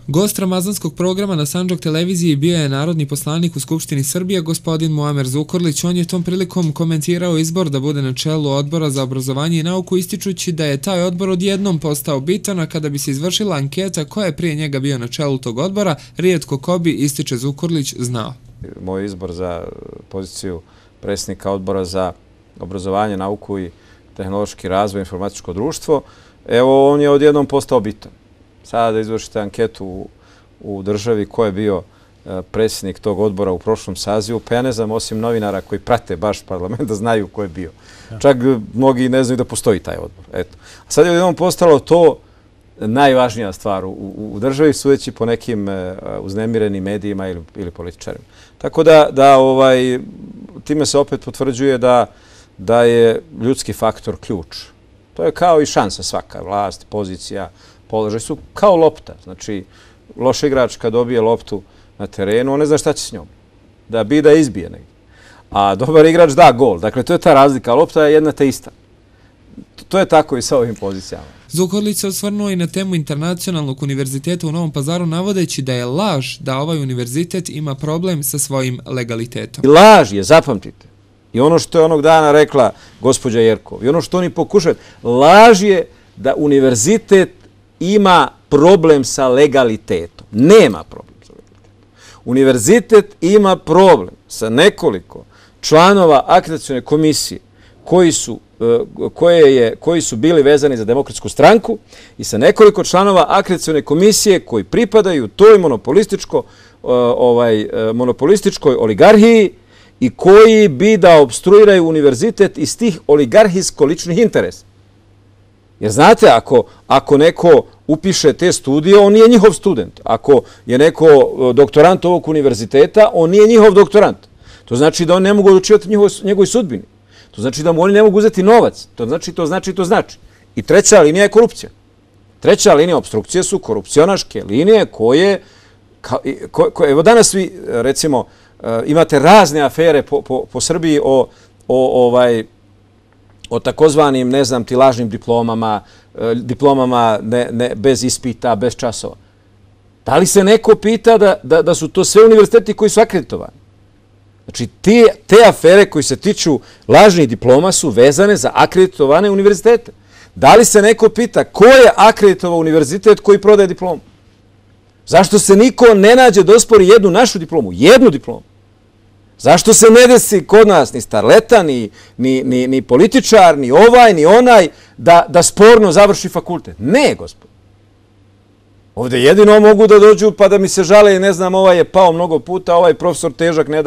Gost ramazanskog programa na Sandžak televiziji bio je narodni poslanik u Skupštini Srbije, gospodin Muamer Zukorlić. On je tom prilikom komentirao izbor da bude na čelu Odbora za obrazovanje i nauku, ističući da je taj odbor odjednom postao bitan, a kada bi se izvršila anketa koja je prije njega bio na čelu tog odbora, rijetko ko bi, ističe Zukorlić, znao. Moj izbor za poziciju predsjednika Odbora za obrazovanje, nauku i tehnološki razvoj, informatičko društvo, evo on je odjednom postao bitan. Sada da izvršite anketu u državi ko je bio predsjednik tog odbora u prošlom sazivu, pa ja ne znam, osim novinara koji prate baš parlament, da znaju ko je bio. Čak mnogi ne znaju da postoji taj odbor. Eto. A sad je odjednom postalo to najvažnija stvar u državi, sudeći po nekim uznemirenim medijima ili političarima. Tako da time se opet potvrđuje da je ljudski faktor ključ. To je kao i šansa svaka, vlast, pozicija, položaj su kao lopta. Znači, loš igrač kad dobije loptu na terenu, on ne zna šta će s njom. Da bi da izbije negdje. A dobar igrač da gol. Dakle, to je ta razlika. Lopta je jedna te ista. To je tako i sa ovim pozicijama. Zukorlić se osvrnuo i na temu Internacionalnog univerziteta u Novom Pazaru, navodeći da je laž da ovaj univerzitet ima problem sa svojim legalitetom. I laž je, zapamtite. I ono što je onog dana rekla gospođa Jerkov, i ono što oni pokušaju, laž je da univerzitet ima problem sa legalitetom. Nema problem sa legalitetom. Univerzitet ima problem sa nekoliko članova akreditacione komisije koji su bili vezani za Demokratsku stranku i sa nekoliko članova akreditacione komisije koji pripadaju toj monopolističkoj oligarhiji i koji bi da obstruiraju univerzitet iz tih oligarhijsko-ličnih interesa. Jer znate, ako neko upiše te studije, on nije njihov student. Ako je neko doktorant ovog univerziteta, on nije njihov doktorant. To znači da oni ne mogu odlučivati njegovoj sudbini. To znači da mu oni ne mogu uzeti novac. To znači. I treća linija je korupcija. Treća linija obstrukcije su korupcionaške linije koje evo danas vi, recimo, imate razne afere po Srbiji o takozvanim, ne znam ti, lažnim diplomama bez ispita, bez časova. Da li se neko pita da su to sve univerziteti koji su akreditovani? Znači, te afere koji se tiču lažnih diploma su vezane za akreditovane univerzitete. Da li se neko pita ko je akreditovao univerzitet koji prodaje diplomu? Zašto se niko ne nađe da ospori jednu našu diplomu? Jednu diplomu. Zašto se ne desi kod nas ni starleta, ni političar, ni ovaj, ni onaj, da sporno završi fakultet? Ne, gospod. Ovdje jedino mogu da dođu pa da mi se žale, ne znam, ovaj je pao mnogo puta, ovaj profesor težak ne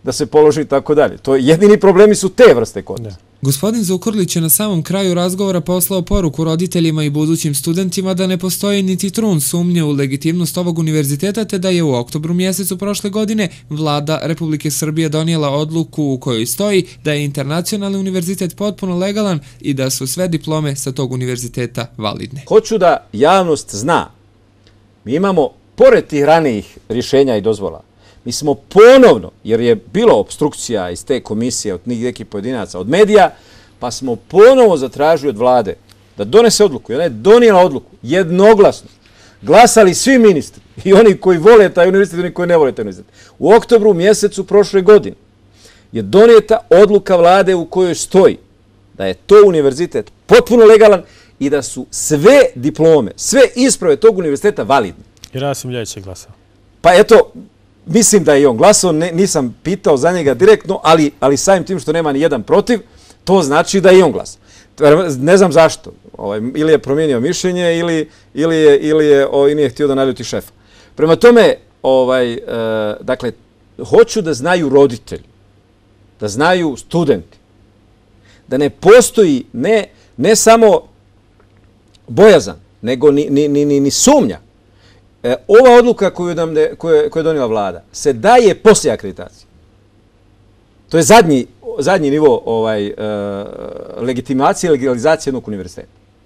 da se položi i tako dalje. Jedini problemi su te vrste kod nas. Gospodin Zukorlić je na samom kraju razgovora poslao poruku roditeljima i budućim studentima da ne postoji niti trun sumnje u legitimnost ovog univerziteta, te da je u oktobru mjesecu prošle godine Vlada Republike Srbije donijela odluku u kojoj stoji da je Internacionalni univerzitet potpuno legalan i da su sve diplome sa tog univerziteta validne. Hoću da javnost zna, mi imamo, pored tih ranijih rješenja i dozvola, mi smo ponovno, jer je bilo obstrukcija iz te komisije od nekih pojedinaca, od medija, pa smo ponovo zatražili od vlade da donese odluku. I ona je donijela odluku, jednoglasno. Glasali svi ministri, i oni koji vole taj univerzitet i oni koji ne vole taj univerzitet. U oktobru mjesecu prošle godine je donijeta odluka vlade u kojoj stoji da je to univerzitet potpuno legalan i da su sve diplome, sve isprave tog univerziteta validne. I Rasim Ljajić je glasao. Pa eto, mislim da je i on glasao, nisam pitao za njega direktno, ali samim tim što nema ni jedan protiv, to znači da je i on glasao. Ne znam zašto. Ili je promijenio mišljenje ili nije htio da naljuti šefa. Prema tome, dakle, hoću da znaju roditelji, da znaju studenti, da ne postoji ne samo bojazan, nego ni sumnja. Ova odluka koju je donijela vlada se daje poslije akreditacije. To je zadnji nivo legitimacije i legalizacije jednog univerziteta.